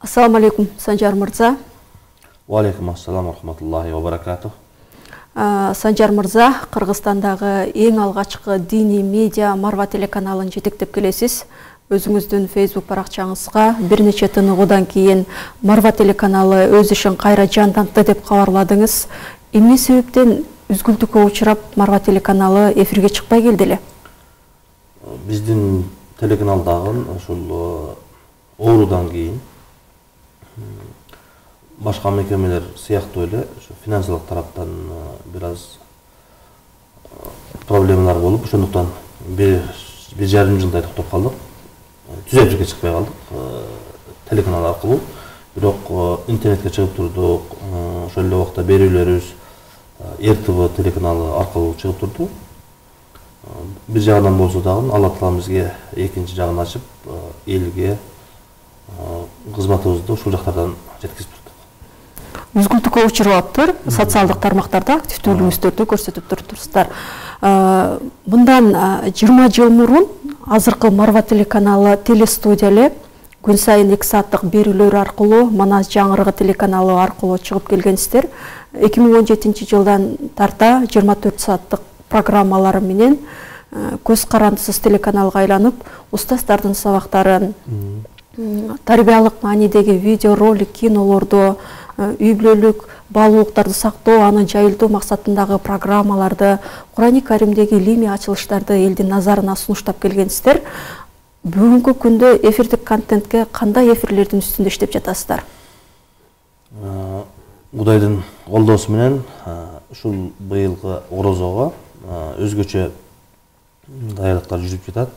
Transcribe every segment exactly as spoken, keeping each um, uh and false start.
Ассаламу алейкум, Санжар мырза. Ва алейкум ассалам ва рахматуллахи ва баракатух. Санжар мырза, Кыргызстандагы эң алгачкы диний медиа Марва телеканалын жетектеп келесиз. Өзүңүздүн Facebook баракчаңызга бир нече тыныгуудан кийин Марва телеканалы өз ишин кайра жандантты деп кабарладыңыз. Эмне себептен үзгүлтүккө учурап Марва телеканалы эфирге чыкпай келди эле? Биздин телеканалдагы ушул оорудан кийин башка мекемелер сыяктуу эле финансылык тараптан бир аз проблемалар болуп, ошондуктан бир жарым жылдай токтоп калдык. Түз эфирге чыкпай калдык телеканал аркылуу. Бирок интернетке чыгып турдук. Ошол эле убакта берүүлөрүбүз эр тэ вэ телеканалы аркылуу чыгып турду. Бир жагынан болсо дагы Алла Таала бизге экинчи жагын ачып, элге кызматыбызды ушул жактардан жеткизип турдук. Үзгүлтүккө учуруптур, социалдык тармактарда активдүүлүгүңүздөрдү көрсөтүп туруптур. Мындан жыйырма жыл мурун азыркы Марва телеканалы телестудия эле күн сайын эки сааттык берүүлөр аркылуу Манас жаңырыгы телеканалы аркылуу чыгып келгенсиздер. эки миң он жетинчи жылдан тарта жыйырма төрт сааттык программалары менен көз карандысыз телеканалга айланып, устаздардын сабактарын, тарбиялык маанидеги видео ролик, кинолорду, үй бүлөлүк баалуулуктарды сактоо, аны жайылтуу максатындагы программаларды, Курани Каримдеги илимий ачылыштарды элдин назарына сунуштап келгенсиздер. Бүгүнкү күндө эфирдик контентке кандай эфирлердин үстүндө иштеп жатасыздар? Кудайдын колдоосу менен ушул быйылкы орозого өзгөчө даярдыктар жүрүп жатат.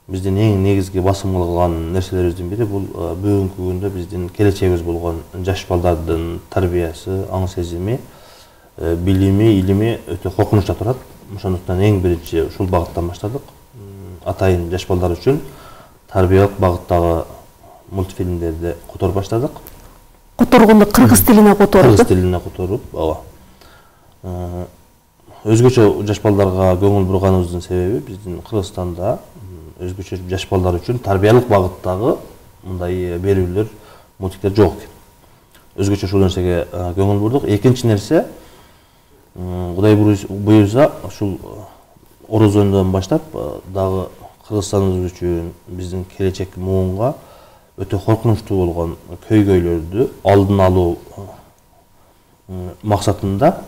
Биздин эң негизги басым кылган нерселерибиздин бири бул бүгүнкү күндө биздин келечегибиз болгон жаш балдардын тарбиясы, аң сезими, билими, илими өтө коркунучта турат. Ошондуктан эң биринчи ушул багыттан баштадык. Атайын жаш балдар үчүн тарбиялык багыттагы мультфильмдерди которуп баштадык. Которгонду кыргыз тилине которуп. Кыргыз тилине которуп, ооба. Өзгөчө жаш балдарга көңүл бурганыбыздын себеби биздин Кыргызстанда өзгөчө жаш балдар үчүн тарбиялык багыттагы мындай берүүлөр, мультиктер жок экен. Өзгөчө ушул нерсеге көңүл бурдук. Экинчи нерсе, Кудай буюрса, ушул орозондон баштап дагы Кыргызстаныбыз үчүн, биздин келечек муунга өтө коркунучтуу болгон көйгөйлөрдү алдын алуу максатында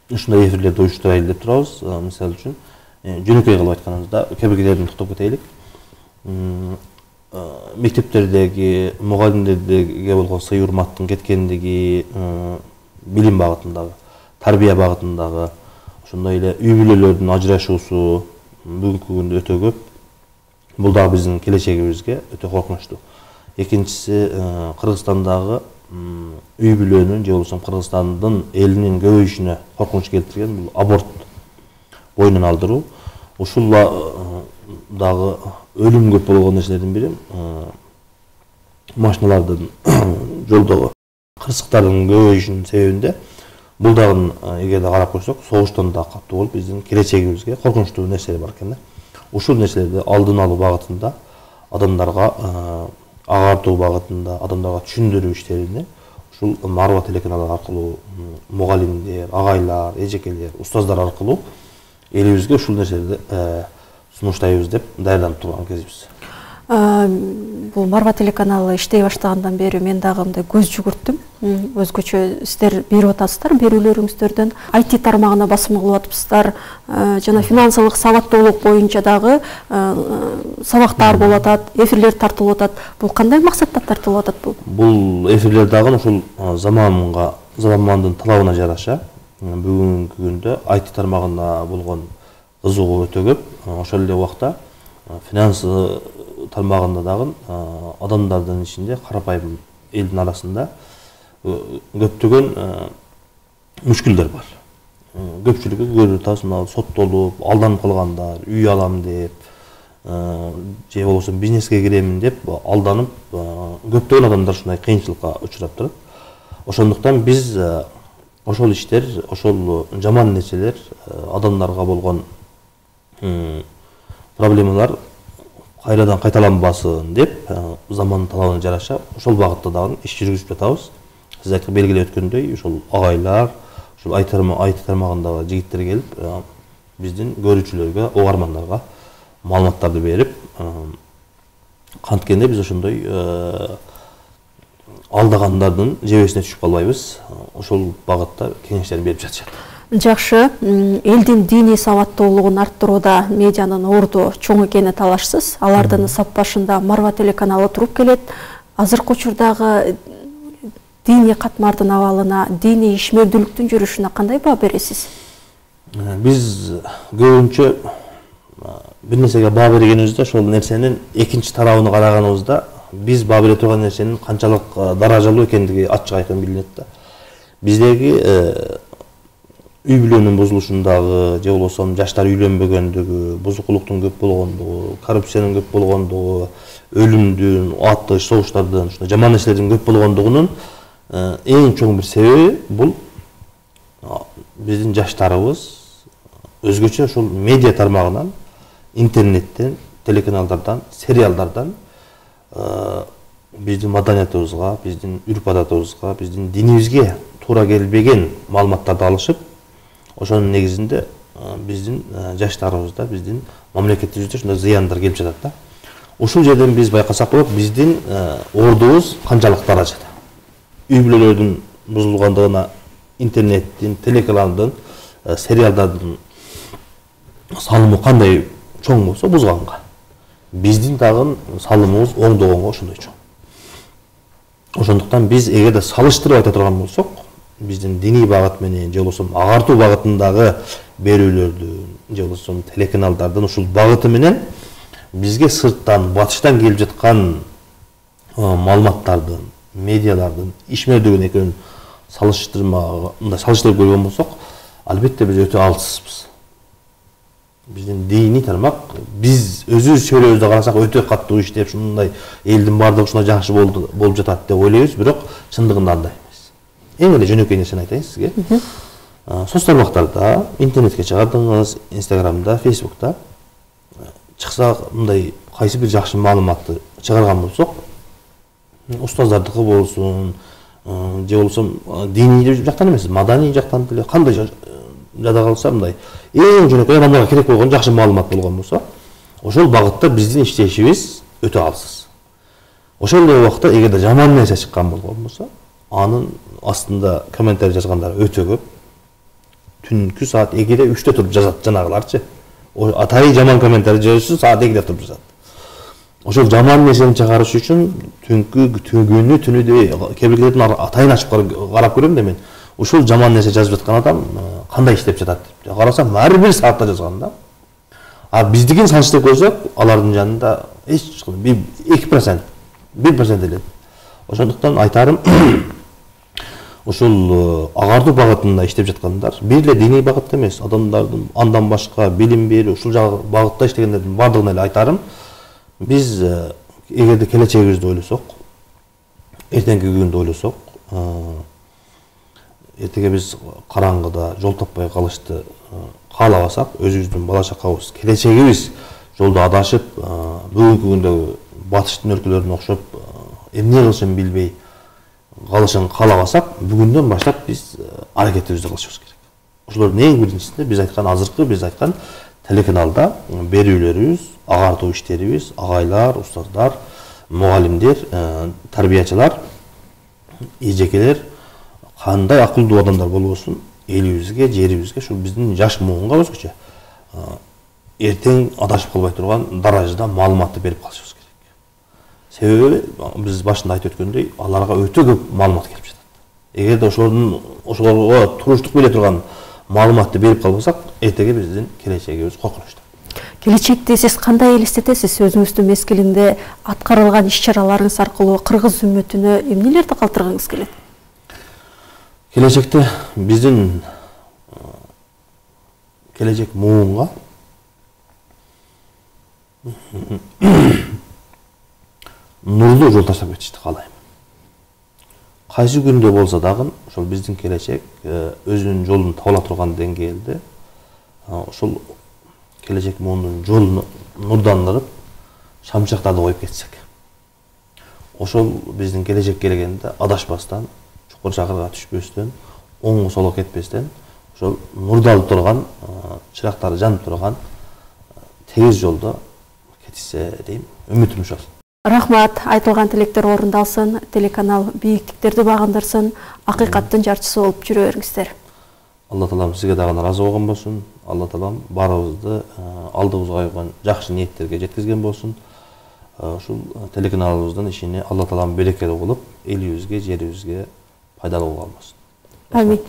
ушундай эфирлерди уюштурайлы деп турабыз. Мисалы үчүн, жөнөкөй кылып айтканыбызда, кээ бир кээдерден токтоп кетелик. Мектептердеги, мугалимдерге болгон сый урматтын кеткендиги, билим багытындагы, тарбия багытындагы, ошондой эле үй бүлөлөрдүн ажырашуусу бүгүнкү күндө өтө көп. Бул дагы биздин келечегибизге өтө коркунучтуу. Экинчиси, Кыргызстандагы үй бүлөнүн же болбосо Кыргызстандын элинин көбөйүшүнө коркунуч келтирген бул аборт боюнан алдыруу. Ушул дагы өлүм көп болгон нерселердин бири. Машиналардын жолдогу кырсыктардын көбөйүшүнүн себебинде бул дагы эгерде карап койсок, согуштан да каттуу болуп биздин келечегибизге коркунучтуу нерселер бар экен да. Ушул нерселерди алдын алуу багытында, адамдарга агартуу багытында, адамдарга түшүндүрүү иштерине ушул Марва телеканалы аркылуу мугалимдер, агайлар, эжекелер, устаздар аркылуу элибизге ушул нерселерди сунуштайбыз деп даярданып турган кезибиз. Бул Марва телеканалы иштей баштагандан бери мен дагы мындай көз жүгүрттүм. Өзгөчө сиздер берип атасыздар берүүлөрүңүздөрдөн, ай ти тармагына басым кылып атыпсыздар, жана финансылык сабаттуулук боюнча дагы сабактар болуп атат, эфирлер тартылып атат. Бул кандай максатта тартылып атат бул? Бул эфирлер дагы ушул заманга, замандын талабына жараша бүгүнкү күндө ай ти тармагына болгон кызыгуу өтө көп. Ошол эле убакта финанс тармагында дагы адамдардын ичинде, карапайым элдин арасында көптөгөн мүшкүлдөр бар. Көпчүлүгү көрүп атасыз, соттолуп, алданып калгандар, үй алам деп, же болбосо бизнеске киремин деп алданып, көптөгөн адамдар ушундай кыйынчылыкка учурап турат. Ошондуктан биз ошол иштер, ошол жаман нерселер, адамдарга болгон проблемалар кайрадан кайталанбасын деп замандын талабына жараша ошол багытта дагы иш жүргүзүп жатабыз. Сиз айткан белгилеп өткөндөй ошол агайлар, ошол айти тармагындагы жигиттер келип биздин көрүүчүлөргө, угармандарга маалыматтарды берип, канткенде биз ошондой алдагандардын жебесине түшүп калбайбыз. Ошол багытта кеңештерин берип жатышат. Жакшы, элдин диний сабаттуулугун арттырууда медианын орду чоң экени талашсыз. Алардын сап башында Марва телеканалы туруп келет. Азыркы учурдагы диний катмардын абалына, диний ишмердүүлүктүн жүрүшүнө кандай баа бересиз? Биз көбүнчө бир нерсеге баа бергенибизде ошол нерсенин экинчи тарабын караганыбызда биз баа бере турган нерсенин канчалык даражалуу экендиги ачык айкын билинет да. Биздеги үй бүлөнүн бузулушундагы, же болбосо жаштар үйлөнбөгөндүгү, бузукулуктун көп болгондугу, коррупциянын көп болгондугу, өлүмдүн, атыш, согуштардын, ушундай жаман нерселердин көп болгондугунун эң чоң бир себеби бул биздин жаштарыбыз өзгөчө ошол медиа тармагынан, интернеттен, телеканалдардан, сериалдардан биздин маданиятыбызга, биздин үрп адатыбызга, биздин динибизге туура келбеген маалыматтарды алышып, ошонун негизинде биздин жаштарыбызда, биздин мамлекетибизде ушундай зыяндар келип жатат да. Ушул жерден биз байкасак болот, биздин ордубуз канчалык даражада. Үй бүлөлөрдүн бузулгандыгына интернеттин, телеканалдын, сериалдардын салымы кандай чоң болсо бузганга, биздин дагы салымыбыз оңдогонго ошондой чоң. Ошондуктан биз эгерде салыштырып айта турган болсок, биздин диний багыт менен же болбосо агартуу багытындагы берүүлөрдүн, же болбосо телеканалдардын ушул багыты менен бизге сырттан, батыштан келип жаткан маалыматтардын, медиалардын ишмердүүлүгүн экөөнүн салыштырмага, мындай салыштырып көргөн болсок, албетте биз өтө алсызбыз. Биздин диний тармак, биз өзүбүз чөйрөбүздө карасак өтө каттуу иштеп, ушундай элдин баардыгы ушундай жакшы болуп жатат деп ойлойбуз, бирок чындыгында андай эмес. Эң эле жөнөкөй нерсени айтайын сизге. Соц тармактарда, интернетке чыгардыңыз, Инстаграмда, Фейсбукта чыкса, мындай кайсы бир жакшы маалыматты чыгарган болсок, устаздардыкы болсун, же болбосо диний жактан эмес, маданий жактан деле кандай жада калса, мындай эң жөнөкөй адамдарга керек болгон жакшы маалымат болгон болсо, ошол багытта биздин иштешибиз өтө алсыз. Ошол эле убакта эгерде жаман нерсе чыккан болгон болсо, анын астында комментарий жазгандар өтө көп. Түнкү саат экиде үчтө туруп жазат жанагыларчы. Атайын жаман комментарий жазышы саат экиде туруп жазат. Ошол жаман нерсени чыгарыш үчүн түнкү күнү түнү деп кээ бирлердин атайын ачып карап көрөм да мен. Ушул жаман нерсе жазып жаткан адам кандай иштеп жатат деп карасам, ар бир саатта жазган да. А биздикин салыштырып көрсөк, алардын жанында эч эки процент, бир процент эле. Ошондуктан айтарым, ушул агартуу багытында иштеп жаткандар, бир эле диний багытта эмес, адамдардын андан башка билим берүү, ушул багытта иштегендердин баардыгына эле айтарым, биз эгерде келечегибизди ойлосок, эртеңки күндү ойлосок, эртеге биз караңгыда жол таппай калышты каалабасак, өзүбүздүн бала чакабыз, келечегибиз жолдо адашып, бүгүнкү күндөгү батыштын өлкөлөрүнө окшоп эмне кылышын билбей калышын каалабасак, бүгүндөн баштап биз аракетибизди кылышыбыз керек. Ошолордун эң биринчисинде биз айткан азыркы биз айткан телеканалда берүүлөрүбүз, агартуу иштерибиз, агайлар, устаздар, мугалимдер, тарбиячылар, эжекелер кандай акылдуу адамдар болбосун, элибизге, жерибизге, ушул биздин жаш муунга өзгөчө эртең адашып калбай турган даражада маалыматты берип калышыбыз керек. Себеби биз башында айтып өткөндөй, аларга өтө көп маалымат келип жатат. Эгерде ошолордун ошолорго туруштук бере турган маалыматты берип калбасак, эртеге биздин келечегибиз коркунучтуу. Келечекте сиз кандай элестетесиз? Өзүңүздүн мезгилинде аткарылган иш-чараларыңыз аркылуу кыргыз үммөтүнө эмнелерди калтыргыңыз келет? Келечекте биздин келечек муунга нурлуу жол таштап кетишти каалайм. Кайсы күндө болсо дагы ошол биздин келечек өзүнүн жолун таба ала турган деңгээлде ошол келечек муундун жолун нурдандырып, шамчактарды коюп кетсек. Ошол биздин келечек келгенде адашпастан, чукур чакырга түшпөстөн, оңго солго кетпестен, ошол нурдалып турган, чырактары жанып турган тегиз жолдо кетишсе дейм, үмүтүм ошол. Рахмат, айтылган тилектер орундалсын, телеканал бийиктиктерди багындырсын, акыйкаттын жарчысы болуп жүрө бериңиздер. Алла таалам сизге дагы ыраазы болгон болсун. Алла таалам баарыбызды алдыбызга койгон жакшы ниеттерге жеткизген болсун. Ушул телеканалыбыздын ишини Алла таалам берекелүү кылып, элибизге, жерибизге пайдалуу болгон болсун. Амин.